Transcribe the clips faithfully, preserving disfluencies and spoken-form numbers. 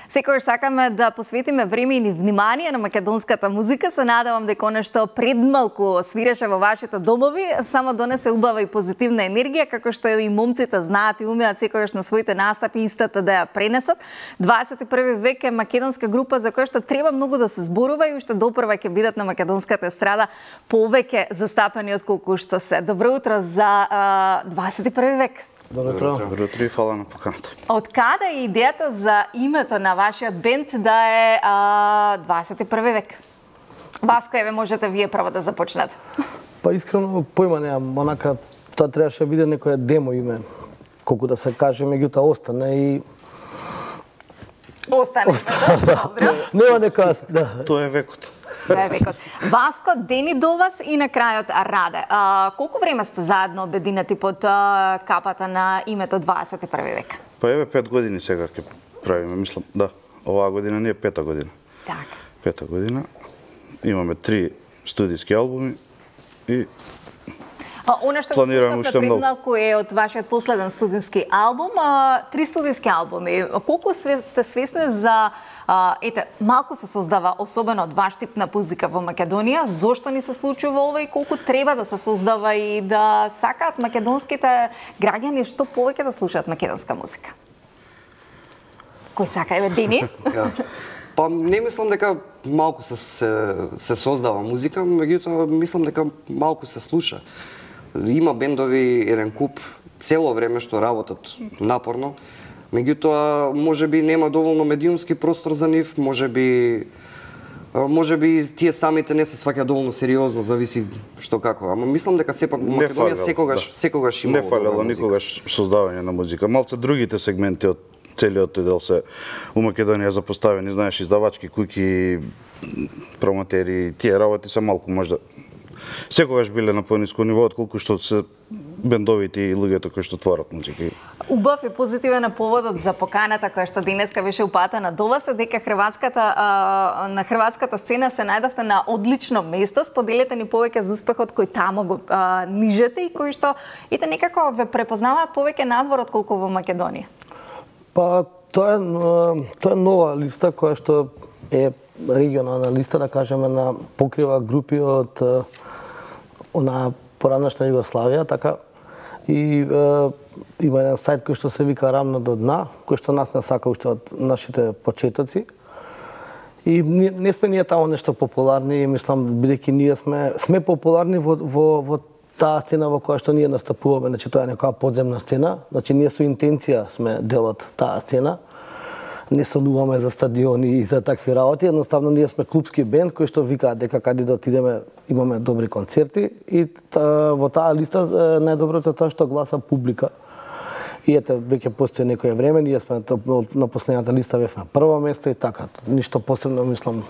Секогаш сакаме да посветиме време и внимание на македонската музика. Се надевам дека нешто предмалку свиреше во вашите домови, само донесе убава и позитивна енергија, како што и момците знаат и умеат секогаш на своите настапи истата да ја пренесат. дваесет и први век е македонска група за која што треба многу да се зборува и уште допрва ќе бидат на македонската естрада повеќе застапени отколку што се. Добро утро за а, дваесет и први век. Добро утро. Добро утро и фала на поканата. Од каде е идејата за името на вашиот бенд да е а, дваесет и први век? Васко, еве можете вие прво да започнете. Па искрено појма немам, онака тоа требаше да биде некоја демо име, колку да се каже, меѓутоа остане и Остане. Добро. Нема некоја, да. Тоа е векот. Тоа е векот. Васко, Дени до вас и на крајот Раде. А, колку време сте заедно обединети под а, капата на името дваесет и први век? Па еве пет години сега ќе правиме, мислам, да. Оваа година не е пета година. Така. Пета година. Имаме три студиски албуми и А, она што го слушнавме пред малку е од вашиот последен студентски албум, а, три студиски албуми. Колку сте свесни за а, ете, малку се создава особено од ваш тип на музика во Македонија, зошто ни се случува ова и колку треба да се создава и да сакаат македонските граѓани што повеќе да слушаат македонска музика? Кој сака, еве Дени? Па не мислам дека малку се, се, се создава музика, меѓутоа мислам дека малку се слуша. Има бендови, еден куп, цело време што работат напорно, меѓутоа можеби нема доволно медиумски простор за нив, можеби можеби тие самите не се сваќаат доволно сериозно, зависи што како. Ама мислам дека сепак во Македонија секогаш да. секогаш има не фалело никогаш создавање на музика. Малце другите сегменти од целиот тој дел се у Македонија запоставени, знаеш, издавачки куќи, промотери, тие работи се малку можда секогаш биле на пониско ниво отколку што се бендовите и луѓето кои што творат музика. Убав и позитивен поводот за поканата која што денеска беше упатена до вас е дека хрватската а, на хрватската сцена се најдовте на одлично место. Споделете ни повеќе за успехот кој таму го а, нижете и кој што ете некако ве препознаваат повеќе надвор отколку во Македонија. Па тоа е тоа е нова листа која што е регионална листа, да кажеме, на покрива групи од она поранешна Југославија, така и е, има еден сајт кој што се вика Рамно до дна, кој што нас не сака уште од нашите почетоци. И не, не сме ние таму нешто популарни, мислам бидејќи ние сме сме популарни во во во таа сцена во која што ние настапуваме, значи тоа е некоја подземна сцена, значи ние со интенција сме дел од таа сцена. Не сонуваме за стадиони и за такви работи, едноставно ние сме клубски бенд кој што викаат дека каде да отидеме имаме добри концерти и та, во таа листа најдоброто е тоа што гласа публика. И ете, веќе постои некој време, ние сме на последната листа бевме на прво место и така. Ништо посебно, мислам,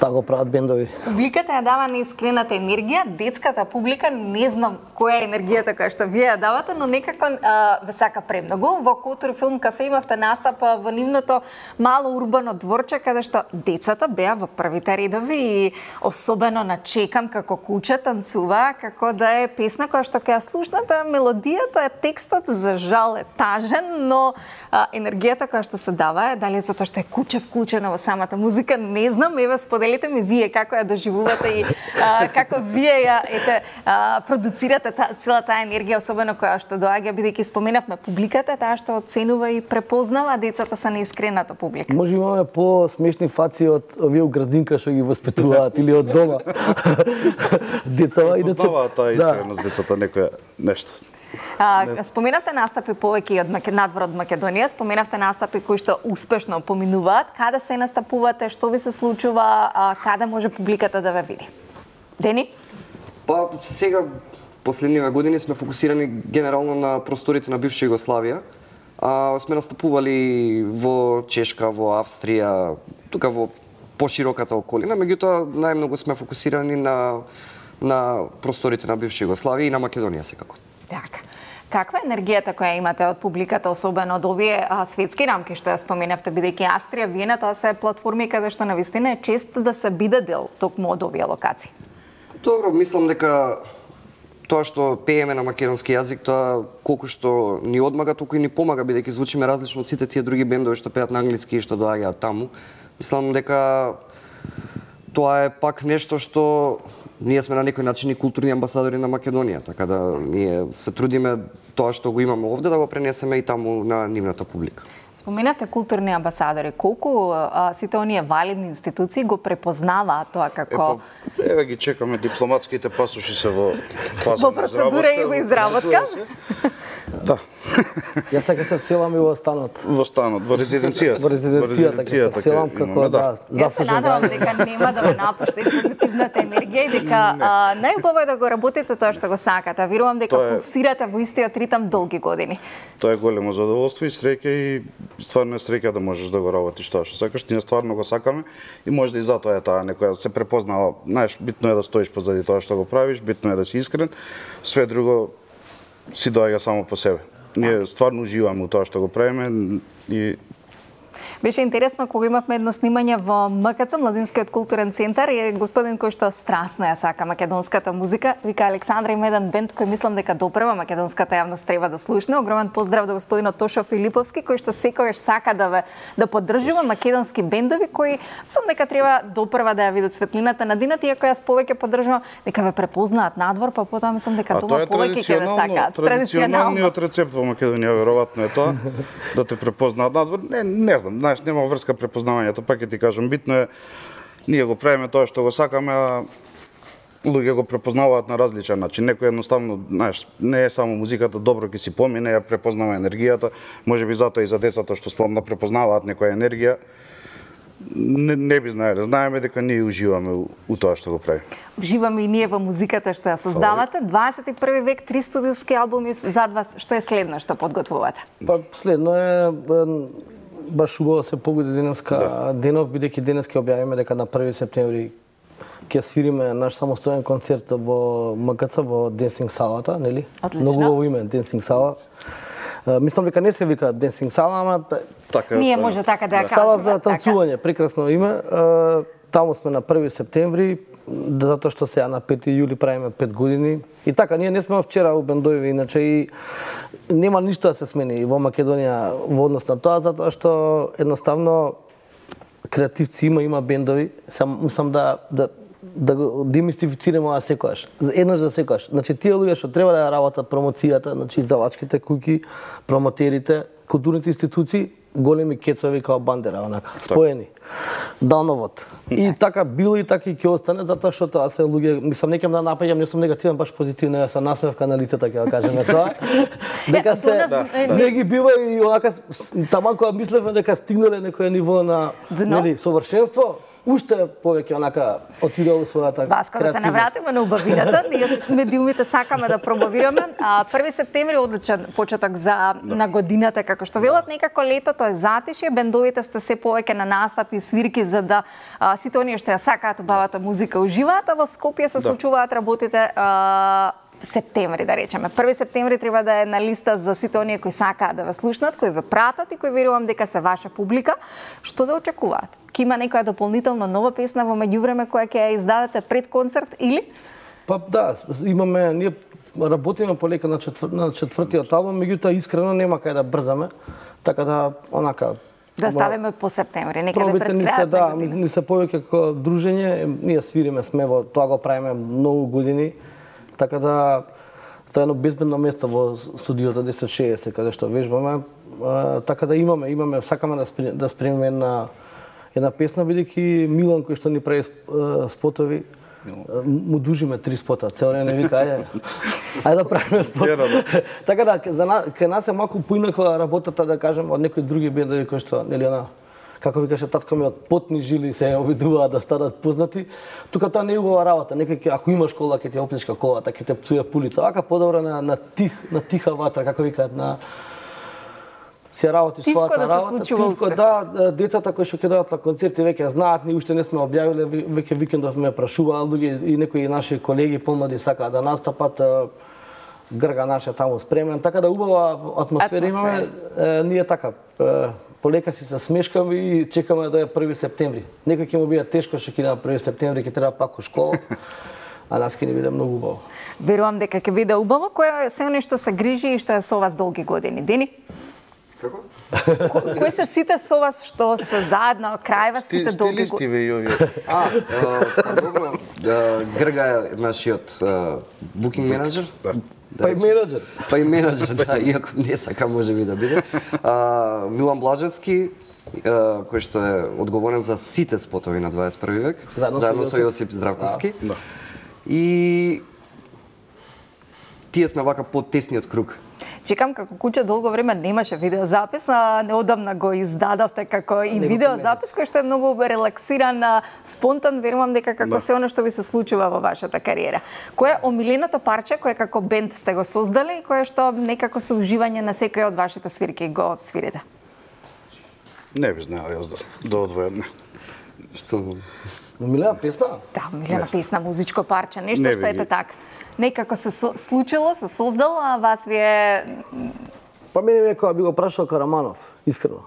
така го прават бендови. Публиката ја дава неисклената енергија, детската публика, не знам која е енергијата која што вие ја давате, но некако а, ве сака премногу. Во Култур филм кафе имавте настап во нивното мало урбано дворче, каде што децата беа во првите редови и особено на Чекам како куче танцува, како да е песна која што ќе ја слушнете, мелодијата, текстот за жал е тажен, но а, енергијата која што се дава е, дали затоа што е куче вклучена во самата музика, не знам, еве споделите ми вие како ја доживувате и а, како вие ја ете а, продуцирате та, цела таа енергија, особено која што доаѓа, бидејќи споменавме публиката, таа што оценува и препознава, децата се неискрената публика. Може имаме по-смешни фаци од овие у градинка што ги воспитуваат или од дома. Децата иначе таа искреност децата некоја нешто. А, споменавте настапи повеќе од надвор од Македонија, споменавте настапи кои што успешно поминуваат. Каде се настапувате, што ви се случува, а, каде може публиката да ве види? Дени? Па сега последниве години сме фокусирани генерално на просторите на бивша Југославија. А, сме настапували во Чешка, во Австрија, тука во пошироката околина, меѓутоа најмногу сме фокусирани на на просторите на бивша Југославија и на Македонија секако. Така. Каква е енергијата која имате од публиката, особено од овие а, светски рамки што ја споменавте, бидејќи Австрија, Виена, тоа се платформи каде што навистина е чест да се биде дел токму од овие локации? Добро, мислам дека тоа што пееме на македонски јазик, тоа колку што ни одмага, толку и ни помага, бидејќи звучиме различно од сите тие други бендови што пеат на англиски и што доаѓаат таму. Мислам дека тоа е пак нешто што ние сме на некој начин и културни амбасадори на Македонија, така да ние се трудиме тоа што го имаме овде да го пренесеме и таму на нивната публика. Споменавте културни амбасадори. Колку а, сите оние валидни институции го препознаваат тоа како... Е, еве ги чекаме, дипломатските пасоши се во фаза во процедура и во изработка. Да. Јас сега се вселам и во станот. Во станот, во резиденцијата. Во резиденцијата, ќе се вселам како да, Јас се надевам дека нема да ме напушти позитивната енергија и дека а, најубаво е да го работите тоа што го сакате. Верувам дека Тоа е- пулсирате во истиот ритам долги години. Тоа е големо задоволство и среќа и стварно е среќа да можеш да го работиш тоа што сакаш. Ние стварно го сакаме и можда и затоа е таа некоја се препознава. Знаеш, битно е да стоиш позади тоа што го правиш, битно е да си искрен. Све друго си доаѓа само по себе. Ние стварно уживаме у тоа што го правиме и Беше интересно кога имавме едно снимање во М К Ц, Младинскиот културен центар, и господин кој што страстно ја сака македонската музика, вика Александра, има еден бенд кој мислам дека допрева македонската јавност треба да слушне. Огромен поздрав до господинот Тошо Филиповски, кој што секогаш сака да ве да поддржува македонски бендови кои мислам дека треба допрева да ја видат светлината на денот, иако јас повеќе поддржувам дека ве препознаат надвор, па потоа мислам дека дома повеќе ќе ве сакаат. Традиционалниот рецепт во Македонија веројатно е тоа да те препознаат надвор. Не, не знам, знаеш, нема врска препознавањето, пак ќе ти кажам, битно е ние го правиме тоа што го сакаме, а луѓе го препознаваат на различен начин. Некој едноставно, знаеш, не е само музиката, добро ќе си помине, ја препознава енергијата, можеби затоа и за децата што спомна препознаваат некоја енергија. Не, не би знаеле, знаеме дека ние уживаме у, у тоа што го прави. Уживаме и ние во музиката што ја создавате. дваесет и први век, три студиски албуми зад вас. Што е следно што подготвувате? Па следно е е, баш убаво се погоди денеска да. денов, бидејќи денес ќе објавиме дека на први септември ќе свириме наш самостоен концерт во М К Ц во Денсинг салата, нели? Отлично. Многу убаво име Денсинг сала. Uh, мислам дека не се вика Денсинг сала, ама Така, Ние може така да ја кажеме. сала за танцување, прекрасно име. Uh, таму сме на први септември, затоа што сега на пети јули правиме пет години. И така, ние не сме вчера у бендови, иначе и нема ништо да се смени во Македонија во однос на тоа, затоа што едноставно креативци има, има бендови. Сам мислам да да да го демистифицираме ова секогаш. Еднаш за секогаш. Значи тие луѓе што треба да ја работат промоцијата, значи издавачките куќи, промотерите, културните институции, големи кецови као бандера, онака, споени. Дановод. И така било и така и ќе остане, затоа што тоа се луѓе, мислам, не ќе да напаѓам, не сум негативен, баш позитивно, ја се насмевка на лицата, ќе да кажеме тоа. Дека се, не ги бива и онака, таман кога мислевме дека стигнале некој ниво на, нели, совршенство, уште повеќе онака отидел својата Васко, да се навратиме на убавината, ние медиумите сакаме да промовираме. А, први септември одличен почеток за на годината, како што велат, некако летото е затишје, бендовите сте се повеќе на настапи и свирки за да а, сите оние што ја сакаат убавата музика уживаат, а во Скопје се случуваат работите а, септември, да речеме. први септември треба да е на листа за сите оние кои сакаат да ве слушнат, кои ве пратат и кои верувам дека се ваша публика. Што да очекуваат? Ке има некоја дополнително нова песна во меѓувреме која ќе ја издадете пред концерт или? Па да, имаме, ние работиме полека на, четвр, на четвртиот албум, меѓутоа искрено нема кај да брзаме, така да онака Да ставиме по септември, некаде пробите пред ни се, крајот да, на година. ни се повеќе како дружење, ние свириме, сме во тоа го правиме многу години, така да тоа е едно безбедно место во студиото десет шеесет каде што вежбаме, а, така да имаме, имаме, сакаме да, спри, да спремиме една една песна, бидејќи Милан кој што ни прави спотови, му дужиме три спота, цел ден не вика, ајде, ајде да правиме спот. Така да, за нас, кај нас е малку поинаква работата, да кажем, од некои други бендови кои што, нели, она, како ви каже татко ми, од потни жили се обидуваат да станат познати. Тука тоа не е убава работа. Некој ќе, ако имаш кола, ќе ти оплечка колата, ќе те пцуе пулица. Вака подобро на, на тих, на тиха ватра, како викаат, на си работи својата да работа. Тивко, да, децата кои што ќе дојдат на концерти веќе знаат, ние уште не сме објавиле, веќе викендов ме прашуваат луѓе и некои наши колеги помлади сакаат да настапат. Грга наша таму спремен, така да убава атмосфера имаме. Е, ние така е, полека си се смешкаме и чекаме да е први септември. Некој ќе му биде тешко што ќе на први септември ќе треба пак у школа. А а нас ќе ни биде многу убаво. Верувам дека ќе биде убаво. Кој е се нешто се грижи и што е со вас долги години? Дени? Како? Ко- Кои се сите со вас што се заедно крај вас сите долги Стилисти години? ве и овие. А, а, па добро, а, Грга е нашиот букинг менеджер. Па и менеджер. Па и менеджер, да, иако не сака може би да биде. А, Милан Блажевски, а, кој што е одговорен за сите спотови на дваесет и први век, Заедно со заедно со Јосип. Јосип Здравковски. Да. И тие сме вака под тесниот круг. Чекам како куќа долго време немаше видеозапис, а неодамна го издадовте како и Него видеозапис кој што е многу релаксиран, а, спонтан, верувам дека како Да. се оно што ви се случува во вашата кариера. Кое е омиленото парче кое како бенд сте го создали и кое што некако со уживање на секој од вашите свирки го свирите? Не би знаел јас да, да одвојам. Што Милена песна? Да, омилена песна, музичко парче, нешто Не што би ете ги- така. Некако се со- случило, се создало, а вас ви е Па мене ме кога би го прашал Караманов, искрено.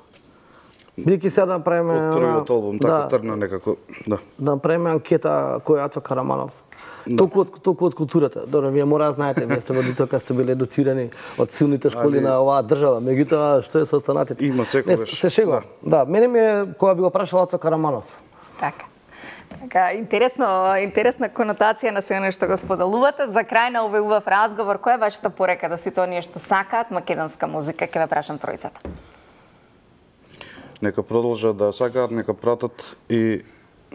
Бидејќи сега да направиме Од првиот албум да, така тргна некако, да. да направиме анкета кој е Ацо Караманов. Толку од толку од културата. Добро, вие мора да знаете, вие сте водителка, сте били едуцирани од силните школи Али- на оваа држава. Меѓутоа, што е со останатите? Има секогаш. Не, се шегувам. Да, мене ми е кога би го прашал Ацо Караманов. така. Така, интересно, интересна конотација на се нешто го споделувате. За крај на овој убав разговор, која е вашата порека да сите оние што сакаат македонска музика? Ќе ве прашам тројцата. Нека продолжат да сакаат, нека пратат и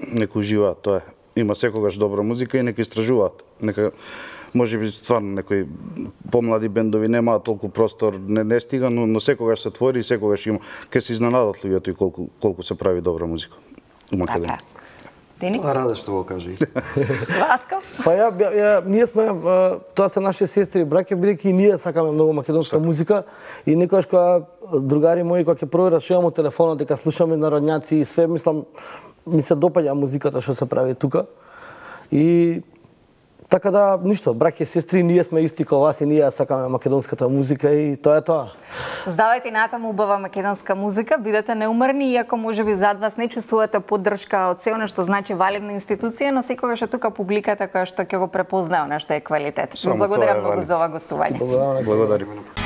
нека уживаат, тоа е. Има секогаш добра музика и нека истражуваат. Нека може би стварно некои помлади бендови немаат толку простор, не, не стига, но, но секогаш се твори и секогаш има. Ке се изненадат луѓето и колку колку се прави добра музика у Македонија. Така. Дени? А раде што го каже исто. Васко? Па ја, ја, ја ние сме а, тоа се наши сестри и браќа, бидејќи и ние сакаме многу македонска музика и некогаш кога другари мои кога ќе проверат што имам од телефонот дека слушаме народњаци и све, мислам ми се допаѓа музиката што се прави тука. И така да ништо, браќа и сестри, ние сме исти како вас и ние сакаме македонската музика и тоа е тоа. Создавајте натаму убава македонска музика, бидете неуморни, иако можеби зад вас не чувствувате поддршка од се оно што значи валидна институција, но секогаш е тука публиката која што ќе го препознае она што е квалитет. Ви Само тоа благодарам е многу валидно. за ова гостување. Благодарам. Благодарим.